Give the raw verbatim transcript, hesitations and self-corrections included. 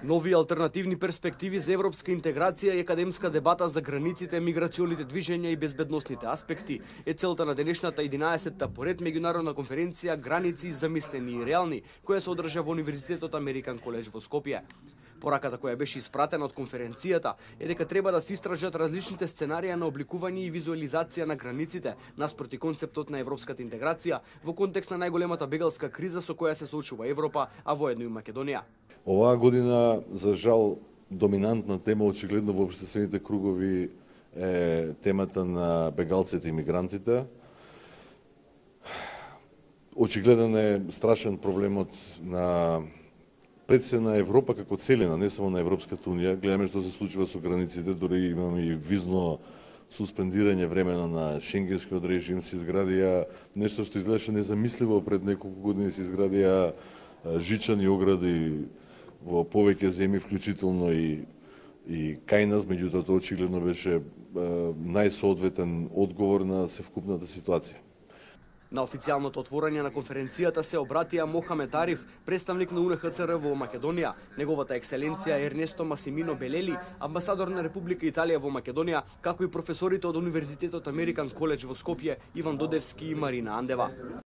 Нови алтернативни перспективи за европска интеграција и академска дебата за границите, миграционите движења и безбедносните аспекти е целта на денешната единаесетта поред меѓународна конференција Граници замислени и реални, која се одржа во Универзитетот Американ коледж во Скопје. Пораката која беше испратена од конференцијата е дека треба да се истражат различните сценарија на обликување и визуализација на границите наспроти концептот на европската интеграција во контекст на најголемата бегалска криза со која се соочува Европа, а воедно и Македонија. Оваа година, за жал, доминантна тема очигледно во општествените кругови е темата на бегалците и мигрантите. Очигледен е страшен проблемот на пред се на Европа како целина, не само на Европската унија. Гледаме што се случува со границите, дори имаме и визно суспендирање времено на шенгенскиот режим, се изградија нешто што изгледаше незамисливо пред неколку години, се изградија жичани огради во повеќе земји, вклучително и и кај нас, меѓутоа тоа очигледно беше најсоодветен одговор на севкупната ситуација. На официјалното отворање на конференцијата се обратија Мохамед Ариф, представник на У Н Х Ц Р во Македонија, неговата екселенција Ернесто Масимино Белели, амбасадор на Република Италија во Македонија, како и професорите од Универзитетот Американ коледж во Скопје Иван Додевски и Марина Андева.